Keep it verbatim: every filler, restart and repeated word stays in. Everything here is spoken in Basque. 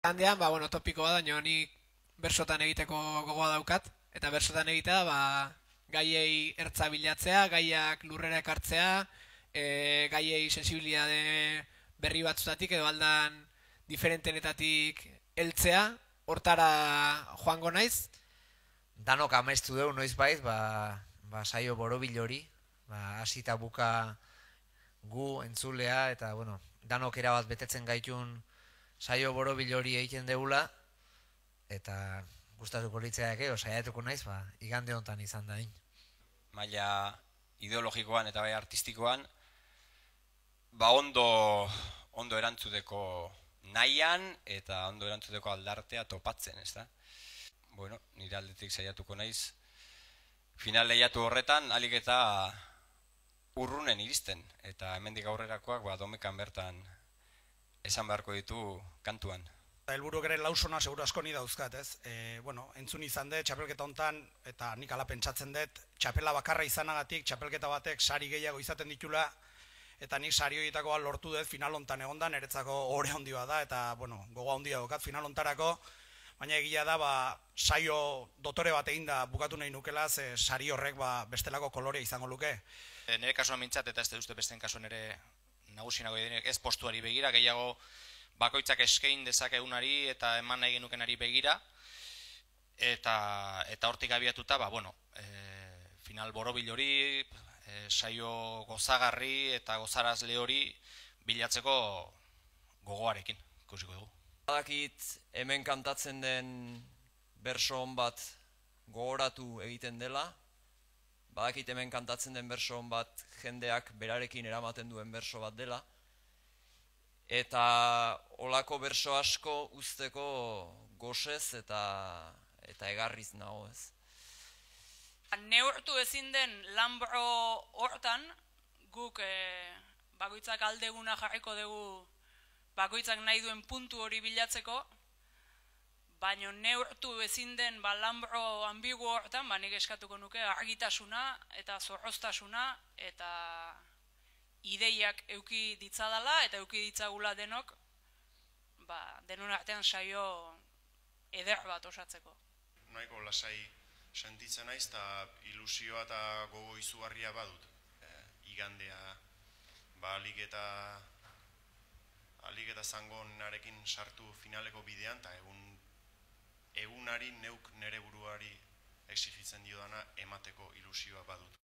Handean, ba, bueno, topiko bada, nio nik bersotan egiteko gogoa daukat, eta bersotan egitea, ba, gaiei ertza bilatzea, gaiak lurrera ekartzea, e, gaiei sensibilitate berri batzutatik edo aldan diferentenetatik heltzea, hortara joango naiz. Danok amestu dugu noizbait, ba, ba saio borobil hori, ba hasita buka gu entzulea eta bueno, danok erabat betetzen gaitun saio borobil hori egiten degula eta gustatuko litzaidake o saiatuko naiz, ba igande hontan izan dain. Maila ideologikoan eta bai artistikoan ba ondo ondo erantzuteko nahian eta ondo erantzuteko aldartea topatzen, ezta? Bueno, nire aldetik saiatuko naiz final lehiatu horretan alik eta urrunen iristen eta hemendik aurrerakoak ba domekan bertan esan beharko ditu kantuan. Helburu ere lausona seguru asko ni dauzkat, ez? E, bueno, entzun izan dut txapelketa hontan eta nik ala pentsatzen dut txapela bakarra izanagatik txapelketa batek sari gehiago izaten ditula eta nik sari horietako bat lortu dut final hontan egonda, niretzako ohore handi bat da eta bueno, gogo handia daukat final hontarako, baina egia da ba saio dotore bat eginda bukatu nahi nukela, ze sari horrek ba bestelako kolorea izango luke. E, nire kasuan mintzat eta ez dut uste besten kasuan ere nagusinago direnek ez postuari begira, gehiago bakoitzak eskain dezakegunari eta eman nahi genukenari begira eta eta hortik abiatuta ba bueno, e, final borobil hori, e, saio gozagarri eta gozarazle hori bilatzeko gogoarekin ikusiko dugu. Badakit hemen kantatzen den berso on bat gogoratu egiten dela, badakit hemen kantatzen den berso on bat jendeak berarekin eramaten duen berso bat dela, eta olako berso asko uzteko gosez eta eta egarriz nago, ez. Neurtu ezin den lanbro hortan guk e, bakoitzak aldeguna jarriko dugu bakoitzak nahi duen puntu hori bilatzeko, baina neurtu ezin den ba, lanbro ambigu hortan, ba, nik eskatuko nuke argitasuna eta zorroztasuna eta ideiak euki ditzadala eta euki ditzagula denok ba, denon artean saio eder bat osatzeko. Nahiko lasai sentitzen naiz eta ilusioa eta gogo izugarria badut. E, igandea ba, alik eta alik eta zangonarekin sartu finaleko bidean eta egun egunari neuk nere buruari exigitzen diodana emateko ilusioa badut.